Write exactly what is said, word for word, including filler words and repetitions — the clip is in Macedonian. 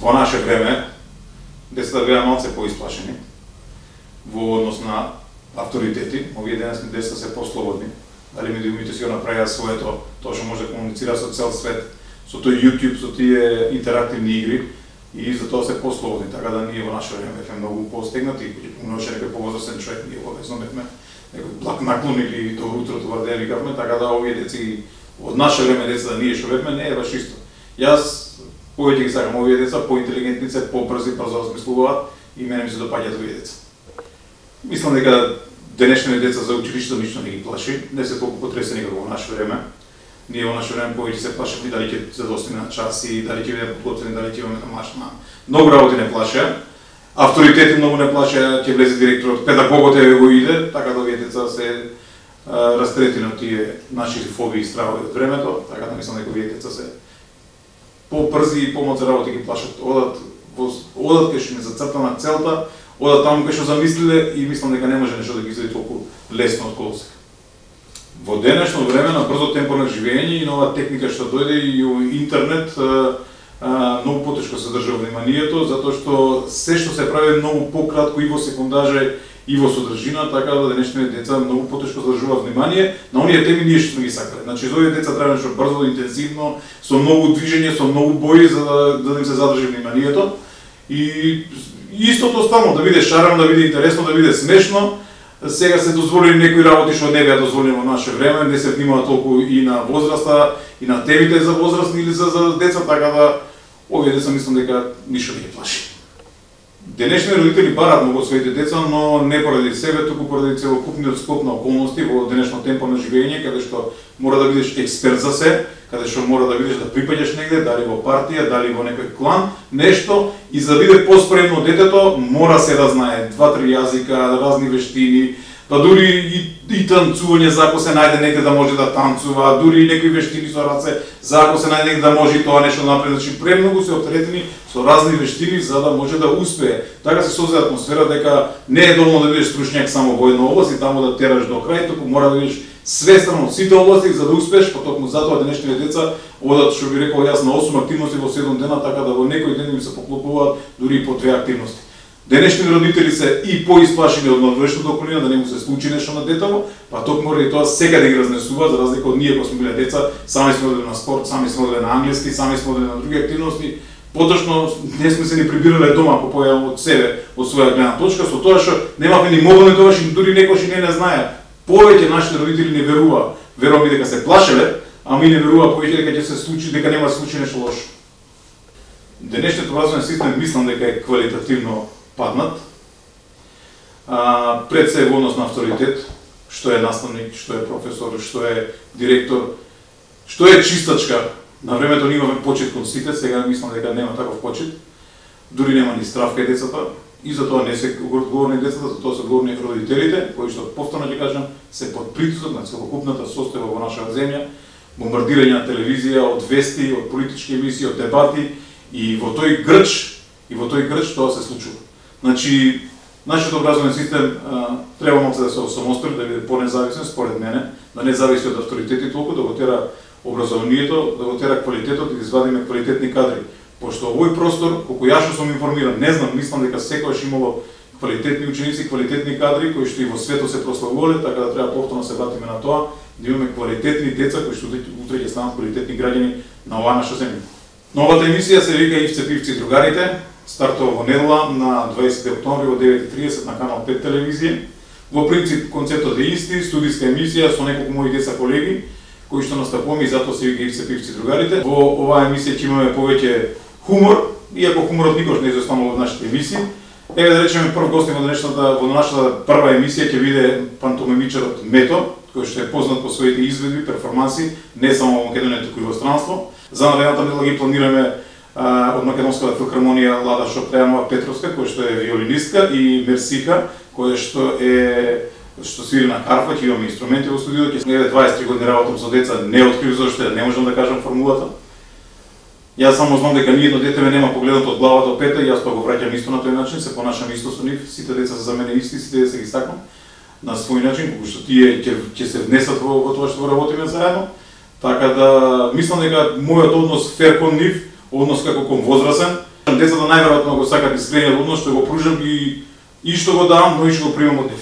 во наше време децата беа малце поисплашени во однос на авторитети, овие денесни деца се послободни. Дали медиумите си го направиа своето, тоа што може да комуницира со цел свет, со тој YouTube, со тие интерактивни игри и за тоа се послободни, така да ние во наше време бевме многу постегнати, многу некој повозрасен човек, ние обовезно бевме некој благ наклон или добро утро товарде викавме, така да овие деци од наше време деца да ние што бевме не е баш исто. Јас повеќе ги сакам овие деца, поинтелигентни се, побрзи, брзо размислуваат и мене ми се допаѓаат овие деца. Мислам дека денешните деца за училиштето ништо не ги плаши, не се толку потресени како во наше време. Ние во наше време повеќе се плашевме дали ќе задостиме на часи, дали ќе бидеме подготвени, дали ќе имаме домашна. Многу работи не плаше. Авторитети многу не плаше, ќе влезе директорот, педагогот еве го иде, така да овие деца се растретени од тие наши фобии и стравови од времето, така да мислам дека овие деца се побрзи и помалку работи ги плашат. Одат во одат кај што не зацртана целта, одат таму кај што замислиле и мислам дека не може нешто да ги излезе толку лесно од колосека. Во денешно време на брзо темпо на живење и нова техника што дојде и интернет, многу потешко се држа вниманието, затоа што се што се прави многу пократко и во секундаже и во содржина, така да денешните деца многу потешко задржуваат внимание на оние теми ние што сме ги сакале. Значи за овие деца треба нешто брзо, интензивно, со многу движење, со многу бои за да, да им се задржи вниманието. И истото останало да биде шарено, да биде интересно, да биде смешно. Сега се дозволени некои работи што не беа дозволени во наше време, не се внимава толку и на возраста, и на темите за возрастни или за, за деца, така да овие деца мислам дека ништо не ги плаши. Денешни родители бараат многу од своите деца, но не поради себе, туку поради целокупниот склоп на околности во денешно темпо на живење, каде што мора да бидеш експерт за се, каде што мора да видиш да припаѓаш негде, дали во партија, дали во некој клан, нешто, и за да биде поспремно детето, мора се да знае два-три јазика, разни вештини, па дури и, и танцување, за ако се најде некде да може да танцува, дури и некои вештини со раце, за ако се најде некде да може и тоа нешто да направи. Значи премногу се оптеретени со разни вештини за да може да успее. Така се создаде атмосфера дека не е доволно да бидеш стручњак само во една област и таму да тераш до крај, туку мора да бидеш свестен од сите области за да успееш, па токму затоа денешните деца одат, што би рекол јас, на осум активности во седум дена, така да во некој ден им се поклопуваат дури и по две активности. Денешните родители се и поисплашени од надвешната околина да не му се случи нешто на детево, па токму и тоа секаде ги разнесуваат, за разлика од ние кога сме биле деца, сами сме одели на спорт, сами сме одели на англиски, сами сме одели на други активности. Поточно не сме се ни прибирале дома по појава од себе, од своја гледна точка, со тоа што немавме ни мобилни тогаш и дури некој што не не знае. Повеќе нашите родители не верува, верувам и дека се плашеле, а ми не верува повеќе дека ќе се случи, дека нема да се случи нешто лошо. Денешниот образовен систем мислам дека е квалитативно паднат. А, пред се во однос на авторитет, што е наставник, што е професор, што е директор, што е чистачка. На времето ние имаме почит кон сите, сега мислам дека нема таков почит. Дури нема ни страв кај децата. И за тоа не се одговорни децата, за тоа се одговорни родителите, кои што повторно ќе кажам, се под притисок на целокупната состојба во нашата земја, бомбардирање на телевизија, од вести, од политички емисии, од дебати, и во тој грч, и во тој грч тоа се случува. Значи, нашиот образовен систем а, треба малку да се осамостои, да биде понезависен, според мене, да не зависи од авторитети толку, да го тера образованието, да го тера квалитетот и да извадиме квалитетни кадри. Пошто овој простор, колку јас што сум информиран, не знам, мислам дека секогаш имало квалитетни ученици, квалитетни кадри кои што и во светот се прославувале, така да треба повторно се вратиме на тоа, да имаме квалитетни деца кои што утре ќе станат квалитетни граѓани на оваа наша земја. Новата емисија се вика Ивце, Пивци и другарите, стартува во недела на дваесети октомври во девет и тридесет на канал пет телевизија. Во принцип концептот е исти, студиска емисија со неколку мои деца колеги кои што настапуваме и затоа се вика Ивце, Пивци и другарите. Во оваа емисија ќе имаме повеќе хумор, иако хуморот никош не изостанува од нашите емисии. Еве да речеме прв гостин во денешната во нашата прва емисија ќе биде пантомимичарот Мето, кој што е познат по своите изведби, перформанси, не само во Македонија, туку и во странство. За наредната недела ги планираме а, од Македонската филхармонија Лада Шопрејанова Петровска, која што е виолинистка, и Мерсика, која што е што свири на харфа, ќе имаме инструменти во студиото. Ќе сме дваесет и три години работам со деца, не открив зашто не можам да кажам формулата. Јас само знам дека ни едно дете ме нема погледнато од глава до пета и јас тоа го враќам исто на тој начин, се понашам исто со нив, сите деца се за мене исти, сите деца ги сакам на свој начин, колку што тие ќе ќе се внесат во, во тоа што работиме заедно. Така да мислам дека мојот однос фер кон нив, однос како кон возрасен, Децата најверојатно го сакат искрениот однос што го пружам и и што го давам, но и што го примам од нив.